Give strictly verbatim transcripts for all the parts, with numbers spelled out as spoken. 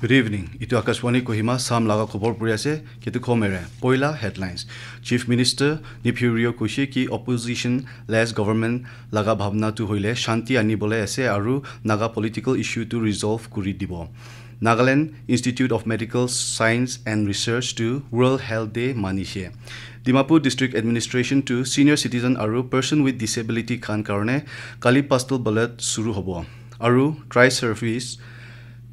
Good evening. Itu Akashvani Kohima Sam laga khobor puri ase, Ketu Khomere. Poila headlines. Chief Minister Neiphiu Rio koise ki opposition less government laga bhabna tu hoile shanti anibole ase aru Naga political issue tu resolve kuri dibo. Nagaland Institute of Medical Science and Research tu World Health Day manishe. Dimapur District Administration tu senior citizen aru person with disability khan karone kali postal ballot suru hobo. Aru tri service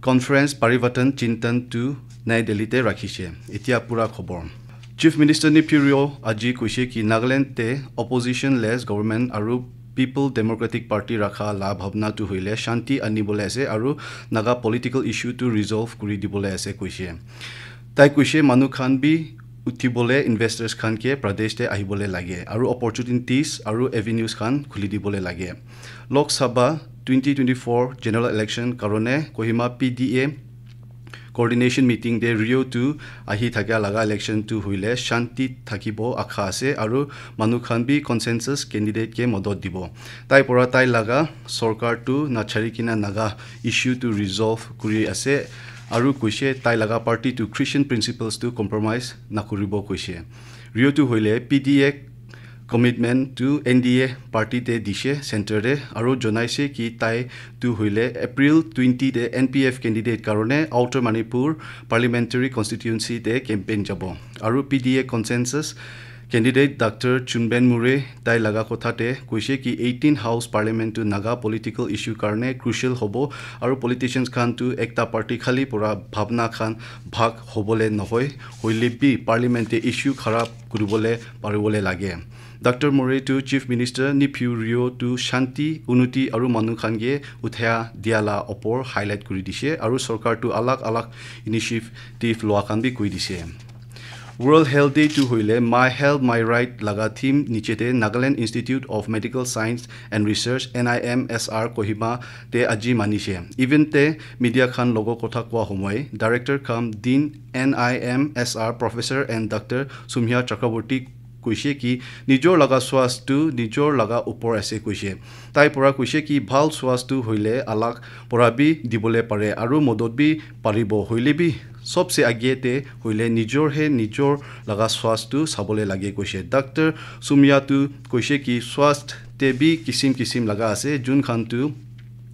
conference Parivartan Chintan tu Nai Delhi te rakhishe. Etia pura khobor. Chief Minister Neiphiu Rio aji koise ki Nagaland te opposition less government aru People Democratic Party rakha la bhabna tu hoile shanti anibole ase aru Naga political issue tu resolve kuri dibole ase koise. Tai koise manu khan bi uthibole investors khan ke Pradesh te ahibole lage aru opportunities aru avenues khan khuli dibole lage. Lok Sabha twenty twenty-four general election karone Kohima P D A coordination meeting te Rio tu ahi thakia laga election tu hoile shanti thakibo akha ase aru manu khan bi consensus candidate ke modot dibo. Tai pora tai laga sorkar tu nachari kina Naga issue tu resolve kuri ase aru koise tai laga party tu Christian principles tu compromise nakuribo koise. Rio tu hoile P D A commitment tu N D A party te dishe center te aru jonaise ki tai tu hoile April twenty te N P F candidate karone Outer Manipur Parliamentary Constituency te campaign jabo. Aru P D A consensus candidate Doctor Chunben Murray tai laga kotha te koise ki eighteen House Parliament tu Naga political issue karone crucial hobo aru politicians khan tu ekta party khali pura bhabna khan bhag hobole nohoi, hoile bi parliament te issue kharap kuribole paribole lage. Doctor Murray tu Chief Minister Neiphiu Rio tu shanti, unuti aru manu khan ke uthia dia la opor highlight kuri dishe aru sorkar tu alag alag initiative loa khan bi koi dishe. World Health Day tu hoile My Health My Right laga theme niche te Nagaland Institute of Medical Science and Research, N I M S R, Kohima te aji manishe. Event te media khan logo kotha koa homoi director kam din N I M S R Professor and Doctor Sumya Chakraborty koise ki nijor laga swas tu nijor laga upor ase koise. Tai pora koise ki bhal swas tu hoile alag pora bi dibole pare aru modot bi paribo, hoile bi sobse age te hoile nijor he nijor laga swas tu sabole lage koise. Doctor Sumya tu koise ki swas te bi kisim kisim laga ase, jun khan tu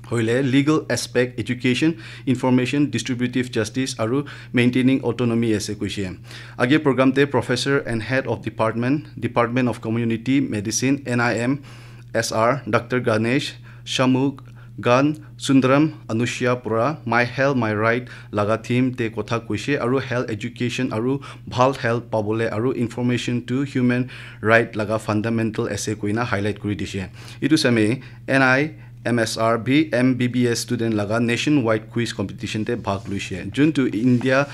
hoile legal aspect, education, information, distributive justice aru maintaining autonomy ase koise. Age program te Professor and Head of Department, Department of Community Medicine, N I M S R, Doctor Ganesh Shamugan Sundaram Anushya pora My Health My Right laga theme te kotha koise aru health education aru bhal health pabole aru information to human right laga fundamental ase koina highlight kuri dishe. Itu same N I M S R bi M B B S student laga nationwide quiz competition te bhag luishe, juntu India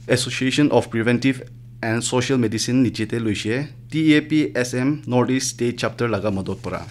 Association of Preventive and Social Medicine niche te luishe, T A P S M North East State Chapter laga modot pora.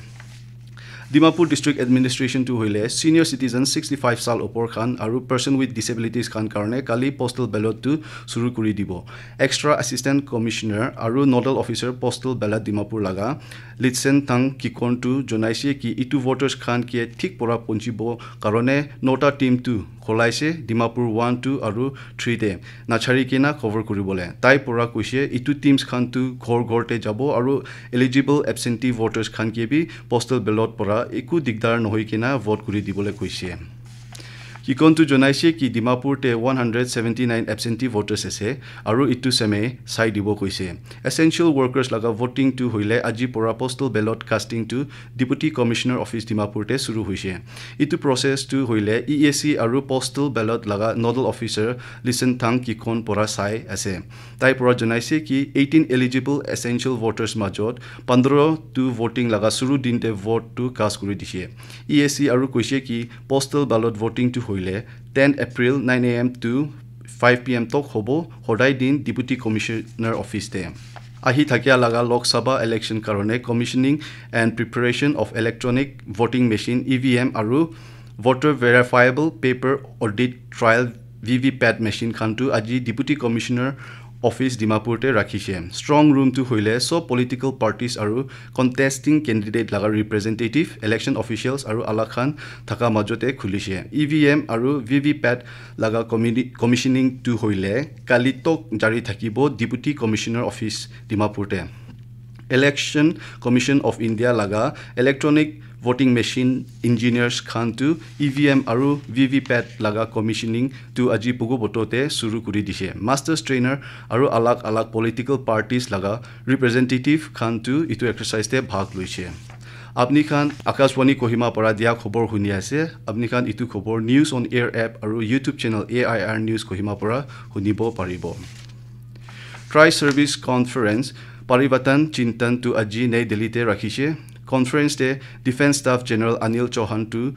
Dimapur District Administration tu hoile senior citizen sixty-five sal opor khan aru person with disabilities khan karone kali postal ballot tu suru kuri dibo. Extra Assistant Commissioner aru Nodal Officer Postal Ballot Dimapur laga Litsen Thang Kikon tu jonaise ki itu voters khan ke thik pora ponchibo karone nota team tu kholaise Dimapur one, two aru three te nachari kena cover kuribole. Tai pora koise itu teams khan tu ghor ghor te jabo aru eligible absentee voters khan ke bi postal ballot pora eku digdar nohoi kena vote kuri dibole koise. Kikon tu jonaise ki Dimapur te one hundred seventy-nine absentee voters ase aru itu same sai dibo koise. Essential workers laga voting tu hoile aji pora postal ballot casting tu Deputy Commissioner Office Dimapur te suru hoise. Itu process tu hoile E A C aru postal ballot laga nodal officer Listen Thang Kikon pora sai ase. Tai pora jonaise ki eighteen eligible essential voters majot pondro tu voting laga suru din te vote tu cast kuri dishe. E A C aru koise ki postal ballot voting tu hoile ten April nine A M to five P M tok hobo, hodai din Deputy Commissioner Office te. Ahi thakia laga Lok Sabha election karone commissioning and preparation of electronic voting machine, E V M, aru voter verifiable paper audit trial V V pat machine khan tu aji Deputy Commissioner office Dimapur te rakhishe. Strong room tu hoile sob political parties aru contesting candidate laga representative, election officials aru alak khan thaka majo te khulishe. E V M aru V V P A T laga communi- commissioning tu hoile kali tok jari thakibo Deputy Commissioner Office Dimapur te. Election Commission of India laga electronic voting machine engineers khan tu E V M aru V V P A T laga commissioning tu aji pugu boto te suru kuri dishe. Masters trainer aru alak alak political parties laga representative khan tu itu exercise te bhag loishe. Apni khan Akashvani Kohima para dia khobor huni ase. Apni khan itu khobor News on Air app aru YouTube channel A I R News Kohima para hunibo paribo. Tri Service Conference Parivartan Chintan tu aji Nai Delhi te rakhishe. Conference te Defence Staff General Anil Chauhan tu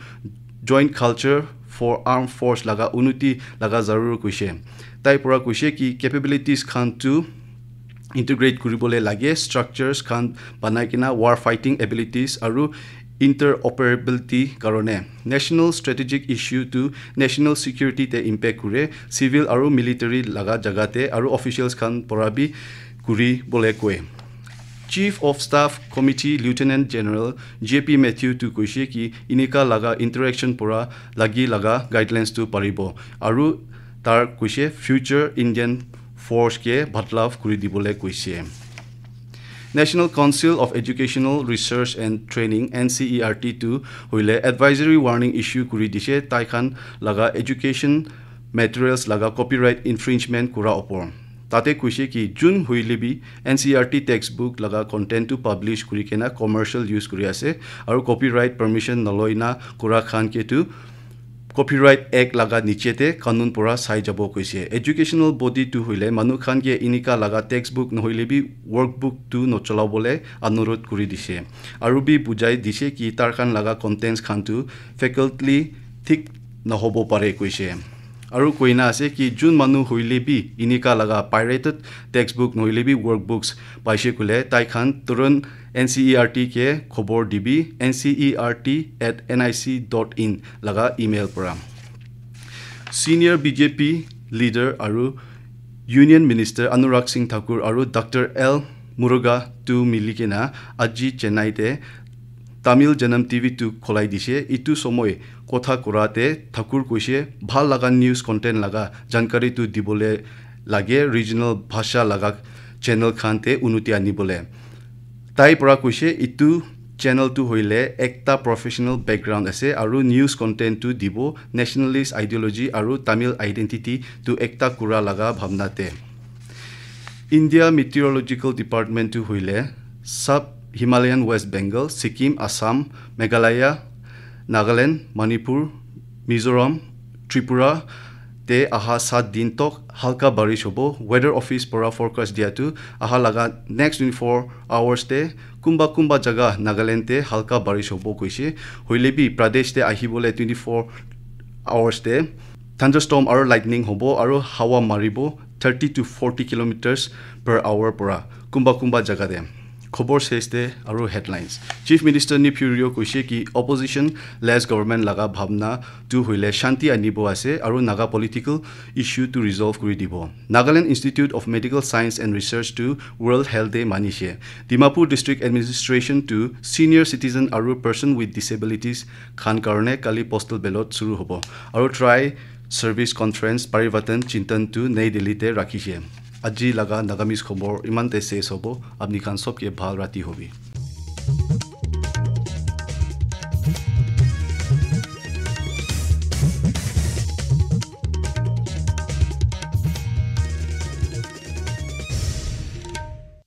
joint culture for armed force laga unnoti laga zarur koishe. Tai pura koishe ki capabilities khan tu integrate kuribole lage, structures khan banai kena war fighting abilities aru interoperability karone. National strategic issue tu national security te impact kure, civil aru military laga jaga te aru officials khan pura bi kuribole koi. Chief of Staff Committee Lieutenant General J P Mathew tu koishe ki inika laga interaction pura lagi laga guidelines tu paribo. Aru tar koishe future Indian force ke badlav kuri dibole koishe. National Council of Educational Research and Training, N C E R T tu hoile advisory warning issue kuri dishe, tai khan laga education materials laga copyright infringement kura opor. Tate koishe ki jun hoile bi N C E R T textbook laga content tu publish kuri kena commercial use kuri ase aru copyright permission naloi na kura khan ke tu Copyright Act laga niche te kanun pura sai jabo koise. Educational body tu hoile manu khan ke inika laga textbook nohoile bi workbook tu nocholabole anurod kuri dise. Aru bi bujai dise ki tar khan laga contents khan tu faculty thik nahobo pare koise. Aru koina ase ki jun manu hoile bi inika laga pirated textbook nohoile bi workbooks paise kule tai khan turun N C E R T ke khobor dibi, N C E R T at N I C dot in laga email pora. Senior B J P leader aru Union Minister Anurag Singh Thakur aru Doctor L Muruga tu mili kena aji Chennai te Tamil Janam T V tu kholai dise. Itu somoi kotha kura te Thakur koise bhal laga news content laga jankari tu dibole lage regional bhasha laga channel khan te unuti anibole. Tai pora koise itu channel tu hoile ekta professional background ase aru news content tu dibo nationalist ideology aru Tamil identity tu ekta kura laga bhabna te. India Meteorological Department tu hoile sub Himalayan West Bengal, Sikkim, Assam, Meghalaya, Nagaland, Manipur, Mizoram, Tripura te aha sat din tok halka barish hobo. Weather Office pora forecast dia tu aha laga next twenty-four hours te kumba kumba jaga Nagaland te halka barish hobo koise. Hoile bi Pradesh te ahibole twenty-four hours te thunderstorm aru lightning hobo aru hawa maribo thirty to forty kilometers per hour pora kumba kumba jaga te. Khobor ses te aru headlines. Chief Minister Neiphiu Rio koise ki opposition less government laga bhabna tu hoile shanti anibo ase aru Naga political issue tu resolve kuri dibo. Nagaland Institute of Medical Science and Research tu World Health Day manise. Dimapur District Administration tu senior citizen aru person with disabilities khan karone kali postal ballot suru hobo. Aru Tri Service Conference Parivartan Chintan tu Nai Delhi te rakhishe. Aji laga Nagamese khobor iman te ses hobo. Apni khan sob ke bhal rati hobi.